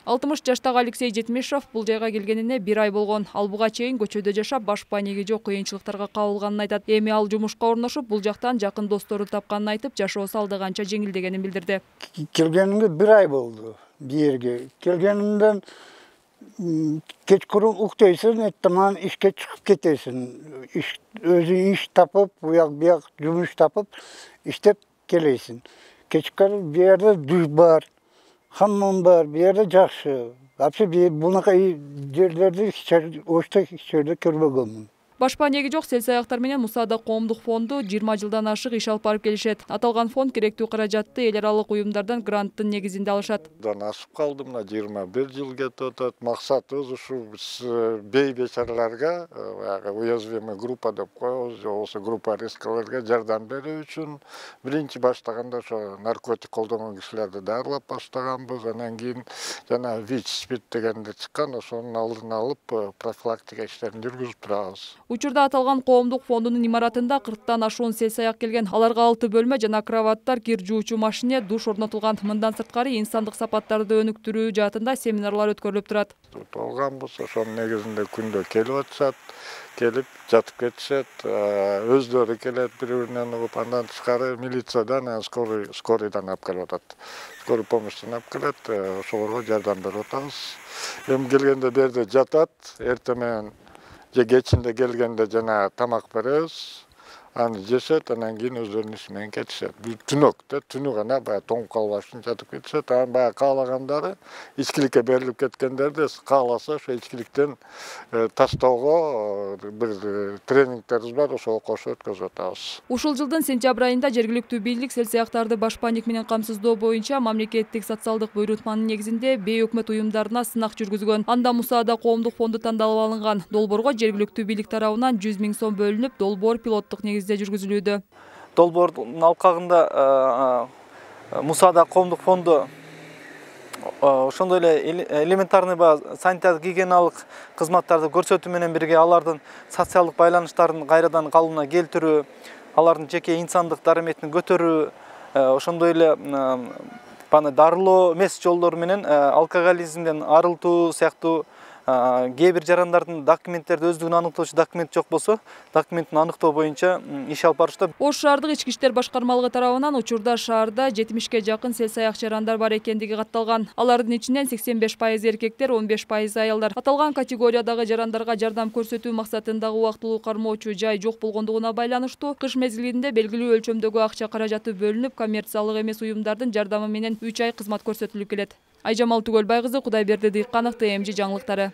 60 жаштагы Алексей Жетмишев бул жайга келгенине 1 ай болгон. Ал буга чейин көчөдө жашап, баш панеги жок кыйынчылыктарга кабылганын айтат. Эми ал жумушка орношуп, бул жактан жакын достору тапканын айтып, жашоосу алда канча жеңилдегенин билдирди. Келгенимге 1 ай болду бу жерге. Келгенимден кечкурун уктойсуң, эртең ишке чыгып кетесиң. Өзүң иш тапып, буяк жумуш тапып, иштеп келесиң. Кечкурун бу жерде душ бар, хаммам бар, бу жерде жакшы. Вообще бунака жерлерди ошто жерде көрбөгөнмүн. Баш панеги жок сел-саяктар менен Мусада коомдук фонду 20 жылдан ашык иш алып барып келишет. Аталган фонд керектүү каражатты эл аралык уюмдардан гранттын негизинде алышат. Асып калдым, 21 жыл кетип атат. Максатыбыз ушу бей бечараларга, уязвимый группа деп коебуз, болбосо группа рискаларга жардам берүү үчүн биринчи баштаганда ошо наркотик колдонгон кишилерди дарылап баштаганбыз. Анан кийин жана ВИЧ-спирт дегенди чыккан, ошонун алдын алып профилактика иштерин жүргүзүп турабыз. Учурда аталган коомдук фондунун имаратында 40тан ашуун сел-саяк келген. Аларга 6 бөлмө жана кроваттар, кир жуучу машине, душ орнотулган. Мындан сырткары инсандык сапаттарды өнүктүрүү жаатында семинарлар өткөрүлүп турат. Болгонбуз, ошонун негизинде күндө келип атышат, келип жатып кетишет, өздөрү келет бири-биринен угуп, андан тышкары милициядан, скорыйдан алып келип атат. Скорый помощьтан алып келет, ошолорго жардам берип атабыз. Эми келгенде бу жерде жатат, эртең менен же кечинде келгенде жана тамак беребиз, аны жешет, анан кийин өздөрүнүн иши менен кетишет. Түнү гана баягы тоңуп калбаш үчүн жатып кетишет. Анан баягы каалагандары, ичкиликке берилип кеткендерди кааласа ошо ичкиликтен таштоого бир тренингтерибиз бар, ошого кошуп өткөзүп атабыз. Ушул жылдын сентябрь айында жергиликтүү бийлик сел-саяктарды баш паник менен камсыздоо боюнча мамлекеттик социалдык буйрутманын негизинде бейөкмөт уюмдарына сынак жүргүзгөн. Анда Мусада коомдук фонду тандалып алынган. Долбоорго жергиликтүү бийлик тарабынан 100 000 сом бөлүнүп, долбоор пилоттук негизде жүргүзүлүүдө. Долбоордун алкагында Мусада коомдук фонду ошондой эле элементарный санитардык гигиеналык кызматтарды көрсөтүү менен бирге алардын социалдык байланыштарын кайрадан калыбына келтирүү, алардын жеке инсандык дараметин көтөрүү, ошондой эле дарылоо эмес жолдору менен алкоголизмден арылтуу сыяктуу кээ бир жарандардын документтерди өздүгүн аныктоочу документ жок болсо, документин аныктоо боюнча иш алып барышты. Ош шаардык ички иштер башкармалыгы тарабынан учурда шаарда 70ке жакын сел-саяк жарандар бар экендиги катталган. Алардын ичинен 85% эркектер, 15% аялдар. Аталган категориядагы жарандарга жардам көрсөтүү максатындагы убактылуу кармоочу жай жок болгондугуна байланыштуу кыш мезгилинде белгилүү өлчөмдөгү акча каражаты бөлүнүп, коммерциялык эмес уюмдардын жардамы менен 3 ай кызмат көрсөтүлүп келет. Айжамал Түгөлбай кызы, Кудайберди Дыйканов, ТМЖ жаңылыктары.